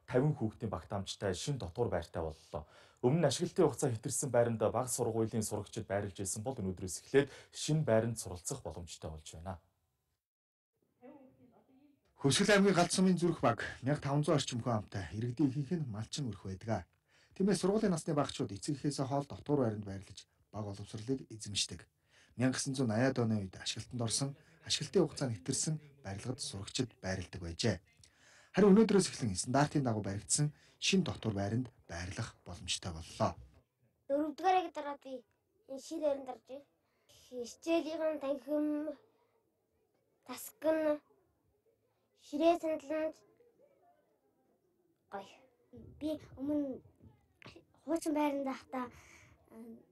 50 хүүхдийн багтаамжтай шинэ дотуур байртай боллоо. Өмнө нь ашиглалтын хугацаа хэтэрсэн байранд бага сургуулийн сурагчид байрлаж байсан бол өнөөдрөөс эхлээд шинэ байранд суралцах боломжтой болж байна. Хүсгэл аймгийн Галт сумын зүрх баг 1500 орчим хүн амтай иргэдийн ихэнх нь малчин өрх байдаг. Тиймээс сургуулийн насны багчууд эцэг эхээсээ хоол дотуур байранд байрлаж баг боловсролыг эзэмшдэг. 1980-аад оны үед ашиглалтанд орсон, ашиглалтын хугацаа нэтэрсэн барилгад сурагчид байрладаг байжээ. Харин өнөөдрөөс эхлэн стандартын дагуу баригдсан шинэ дотуур байранд байрлах боломжтой боллоо. 4-р анги дараа би энэ шинэ байранд орж байна. Хичээлийн танхим, тасган, ширээ сандалд гоё. Би өмнө хуучин байранд байхдаа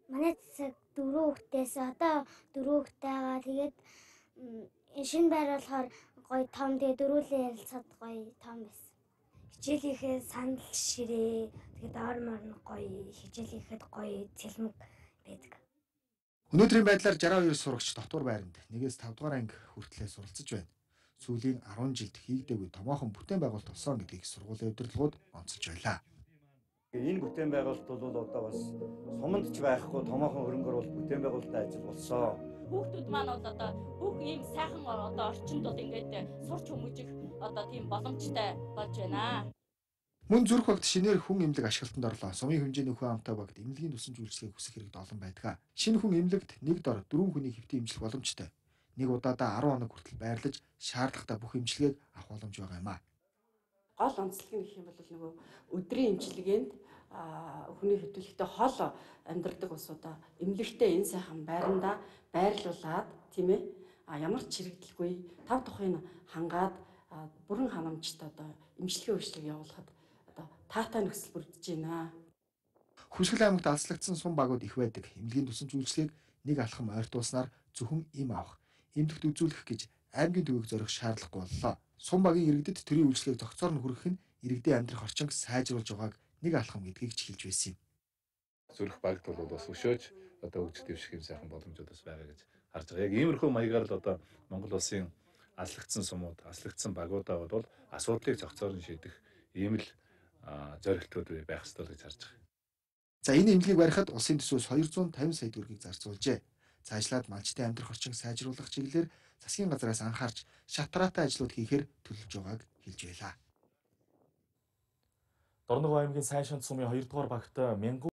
манай засаг 4 хүүхдээс одоо 4 хүүхдтэйгаа тэгээд энэ шинэ байр болохоор гоё том, тэгээд дөрүүлээ ярилцаад гоё том байсан. Хичээлийнхээ сандал ширээ тэгээд ормор нь гоё, хичээлийнхэд гоё цэлмэг байдаг. Өнөөдрийн байдлаар 62 сурагч дотуур байранд 1-ээс 5 дугаар анги хүртлээр суралцж байна. Сүүлийн 10 жилд хийгдээгүй томоохон бүтээн байгуулалт болсон гэдгийг сургуулийн удирдлагууд онцолж байлаа. Энэ бүтээн байгуулалт бол одоо бас суманд ч байхгүй томоохон хөрөнгөөр бол бүтээн байгуулалтын ажил болсон. Хүүхдүүд маань бол одоо бүх ийм сайхан одоо орчинд бол ингээд сурч хүмүүжих одоо тийм боломжтой болж байна. Мөн зүрх багт шинээр хүн эмнэлэг ашиглалтанд орлоо. Сумын хэмжээний хүн амтай багт эмнэлгийн тусан үйлчлэгийг хүсэх хэрэгт олон байдаг. Шинэ хүн эмнэлэгт нэг дор 4 хүний хэвтэн эмчлэх боломжтой. Нэг удаадаа 10 хоног хүртэл байрлаж шаардлагатай бүх эмчилгээг авах боломж байгаа юм а. Гол онцлог нь гэх юм бол нөгөө өдрийн эмчилгээнд хүний хөдөлгөөтэй хол амьдрдаг усудаа эмнэлэгтээ энэ сайхан байранда байрлуулад тийм ээ ямар ч чирэгдэлгүй тав тухын хангаад бүрэн ханамжтай одоо эмчилгээ үйлчлэг явуулахад одоо таатай нөхцөл бүрдэж байна. Хүсгэл аймагт алслагдсан сум багууд их байдаг. Эмнэлгийн тусан үйлчлэгийг нэг алхам ойртуулснаар зөвхөн им авах, эмнэлэгт үзүүлэх гэж аймгийн төвийг зорих шаардлагагүй боллоо. Сум багийн иргэдэд төрийн үйлчлэгийг зохицоор нь хүргэх нь иргэдийн амьдрах орчинг сайжруулж байгааг нэг алхам гэдгийг ч хэлж байсан юм. Зүрх багт бол бас өшөөж одоо хөгжил дэвших юм сайхан боломжууд бас байгаа гэж харж байгаа. Яг иймэрхүү маягаар л одоо Монгол улсын алслагдсан сумууд, алслагдсан багуудаа бол асуудлыг зохицоор нь шийдэх ийм л зорилтууд байх ёстой гэж харж байгаа. За энэ эмнэлгийг барихад улсын төсвөөс 250 сая төгрөгийг зарцуулжээ. Цаашлаад малчтын амьдрах орчинг сайжруулах чиглэлээр засгийн газраас анхаарч шатраатай ажлууд хийхээр төлөвлөж байгааг хэлж байлаа. Дорногов аймгийн Сайшанд сумын 2 дугаар багт 1000